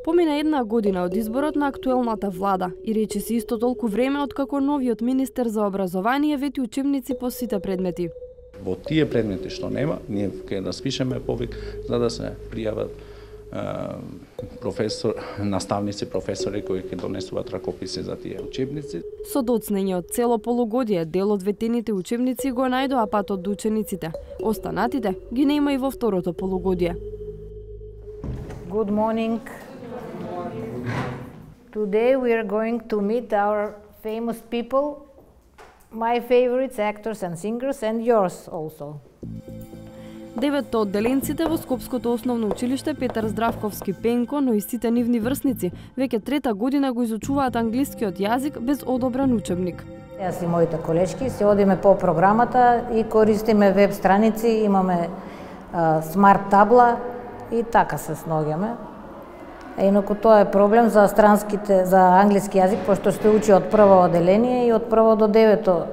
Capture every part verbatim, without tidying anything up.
Помина една година од изборот на актуелната влада и речиси исто толку време откако новиот министер за образование вети учебници по сите предмети. Во тие предмети што нема, ние ќе распишеме повик за да се пријават професор, наставници, професори кои ќе донесуваат ракописи за тие учебници. Со доцнење од цело полугодие, дел од ветените учебници го најдоа патот до учениците. Останатите ги нема и во второто полугодие. Good morning. Today we are going to meet our famous people, my favorites, actors and singers, and yours also. Деветто од деленците во Скопското основно училиште Петар Здравковски Пенко, но и сите нивни врсници, веќе трета година го изучуваат англискиот јазик без одобрен учебник. Јас и моите колешки се одиме по програмата и користиме веб страници, имаме а, смарт табла и така се сноѓаме. Инаку тоа е проблем за странските, за англиски јазик, пошто се учи од прво оделение и од прво до девето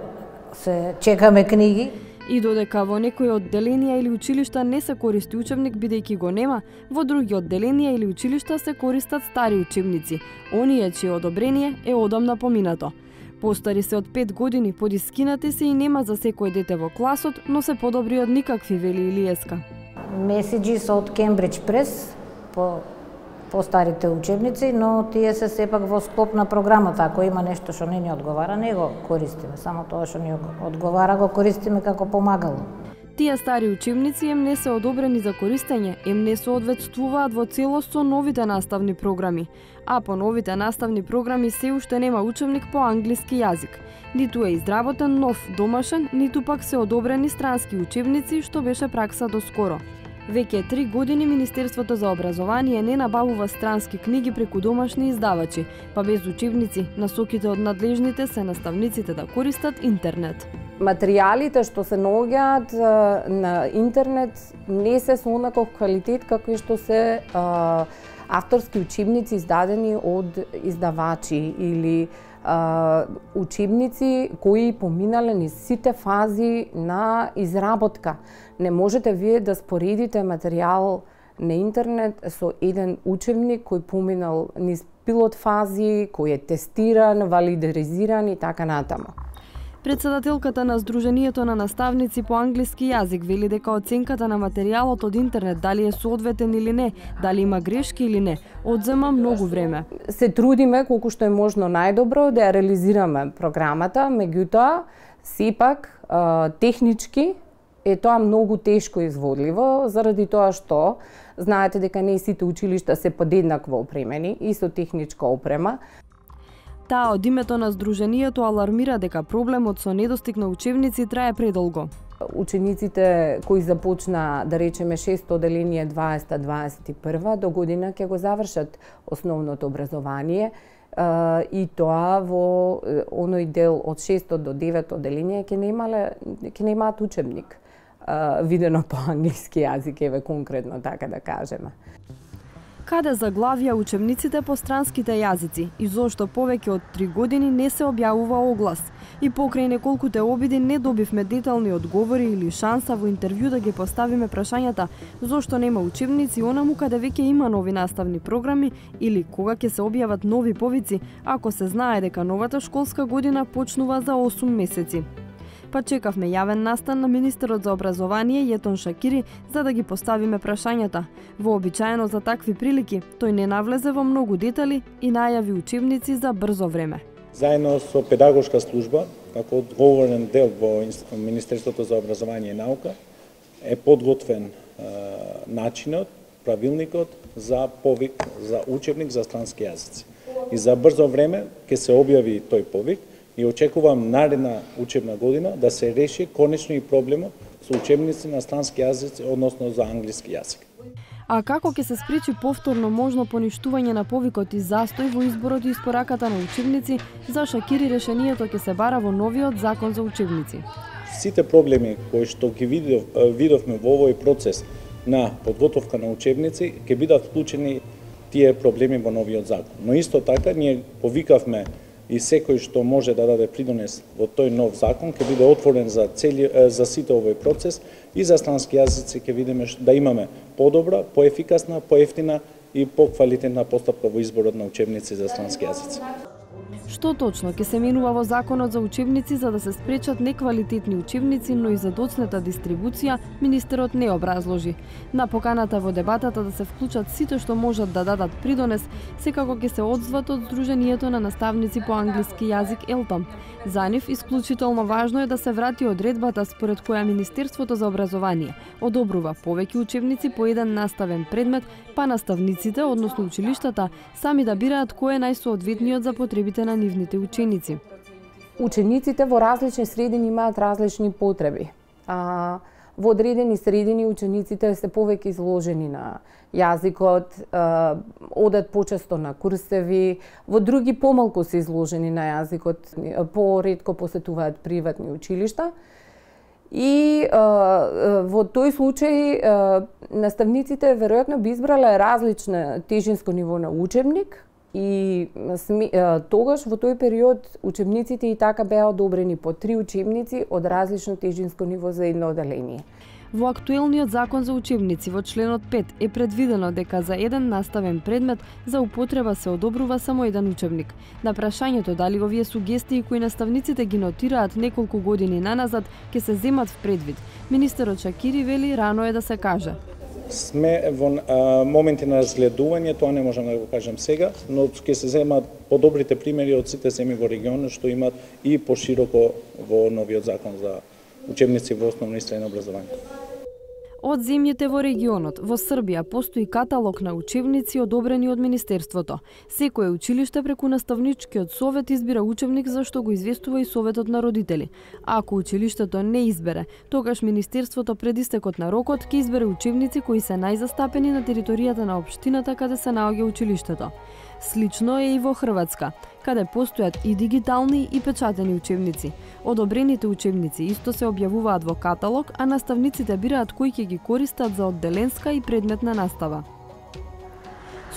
се чекаме книги. И додека во некои одделенија или училишта не се користи учебник бидејќи го нема, во други одделенија или училишта се користат стари учебници, оние чие одобрение е одамна поминато. Постари се од пет години, подискинати се и нема за секој дете во класот, но се подобри од никакви, вели Илиеска. Меседжис од Кембридж Прес по по старите учебници, но тие се сепак во склоп на програмата. Ако има нешто што не ни одговара, не го користиме. Само тоа што ни одговара го користиме како помагало. Тие стари учебници им не се одобрени за користење, им не соодветствуваат во целост со новите наставни програми. А по новите наставни програми се уште нема учебник по англиски јазик. Ниту е изработен нов домашен, ниту пак се одобрени странски учебници, што беше пракса до скоро. Веќе три години Министерството за образование не набавува странски книги преку домашни издавачи, па без учебници, насоките од надлежните се наставниците да користат интернет. Материјалите што се наоѓаат на интернет не се со онаков квалитет какви што се а, авторски учебници издадени од издавачи или а, учебници кои поминале низ сите фази на изработка. Не можете вие да споредите материјал на интернет со еден учебник кој поминал низ пилот фази, кој е тестиран, валидизиран и така натаму. Председателката на Сдруженијето на наставници по англиски јазик вели дека оценката на материјалот од интернет, дали е соодветен или не, дали има грешки или не, одзема многу време. Се трудиме колку што е можно најдобро да ја реализираме програмата, меѓутоа сепак технички е тоа многу тешко изводливо, заради тоа што знаете дека не сите училишта се подеднакво опремени и со техничка опрема. Таа од името на Сдруженијето алармира дека проблемот со недостиг на учебници трае предолго. Учениците кои започна, да речеме, шесто оделение дваесета дваесет и прва до година ќе го завршат основното образование и тоа во оној дел од шесто до девето оделение ќе немале ќе немаат учебник видено по англиски јазик, еве конкретно така да кажеме. Каде заглавија учебниците по странските јазици и зошто повеќе од три години не се објавува оглас? И покрај неколкуте обиди не добивме детални одговори или шанса во интервју да ги поставиме прашањата зошто нема учебници онаму каде веќе има нови наставни програми или кога ќе се објават нови повици, ако се знае дека новата школска година почнува за осум месеци. Па чекавме јавен настан на министерот за образование Јетон Шакири за да ги поставиме прашањата. Вообичаено за такви прилики, тој не навлезе во многу детали и најави учебници за брзо време. Заедно со педагошка служба, како одговорен дел во Министерството за образование и наука, е подготвен е, начинот, правилникот за повик за учебник за странски јазици. И за брзо време ќе се објави тој повик и очекувам наредна учебна година да се реши конечно и проблемот со учебници на странски јазици, односно за англиски јазик. А како ќе се спречи повторно можно поништување на повикот и застој во изборот и испораката на учебници, за Шакири решението ќе се бара во новиот закон за учебници. Сите проблеми кои што ги видов, видовме во овој процес на подготовка на учебници ќе бидат вклучени тие проблеми во новиот закон. Но исто така ние повикавме и секој што може да даде придонес во тој нов закон ќе биде отворен за цели за сите овој процес и за странски јазици ќе видиме да имаме подобра, поефикасна, поевтина и поквалитетна постапка во изборот на учебници за странски јазици. Што точно ќе се менува во Законот за учебници за да се спречат неквалитетни учебници, но и за доцнета дистрибуција, министерот не образложи. На поканата во дебатата да се вклучат сите што можат да дадат придонес, секако ќе се одзват од Сдруженијето на наставници по англиски јазик ЕЛТАМ. За нив исклучително важно е да се врати одредбата според која Министерството за образование одобрува повеќе учебници по еден наставен предмет, па наставниците, односно училиштата, сами да бираат кој е најсоодветниот за потребите на нивните ученици. Учениците во различни средини имаат различни потреби. А, во одредени средини учениците се повеќе изложени на јазикот, а, одат почесто на курсеви, во други помалку се изложени на јазикот, поретко посетуваат приватни училишта. И а, во тој случај а, наставниците веројатно би избрале различно тежинско ниво на учебник, и сми, а, тогаш во тој период учебниците и така беа одобрени по три учебници од различно тежинско ниво за едно оделение. Во актуелниот закон за учебници во членот пет е предвидено дека за еден наставен предмет за употреба се одобрува само еден учебник. На прашањето дали овие сугестии кои наставниците ги нотираат неколку години наназад ќе се земат в предвид, министерот Шакири вели рано е да се каже. Сме во а, моменти на разгледување, тоа не можам да го кажам сега, но ќе се земат подобрите примери од сите земји во регионот што имат и пошироко во новиот закон за учебници во основно и средно образование. Од земјите во регионот, во Србија постои каталог на учебници одобрени од Министерството. Секое училиште преку наставничкиот совет избира учебник за што го известува и советот на родители. Ако училиштето не избере, тогаш Министерството пред истекот на рокот ќе избере учебници кои се најзастапени на територијата на општината каде се наоѓа училиштето. Слично е и во Хрватска, каде постојат и дигитални и печатени учебници. Одобрените учебници исто се објавуваат во каталог, а наставниците бираат кои ќе ги користат за одделенска и предметна настава.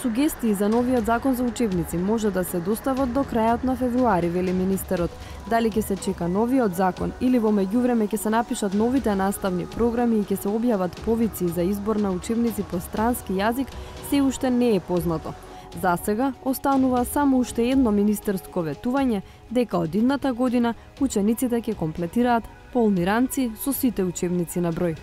Сугестии за новиот закон за учебници може да се достават до крајот на февруари, вели министерот. Дали ќе се чека новиот закон или во меѓувреме ќе се напишат новите наставни програми и ќе се објават повици за избор на учебници по странски јазик, се уште не е познато. За сега останува само уште едно министерско ветување дека од идната година учениците ќе комплетираат полни ранци со сите учебници на број.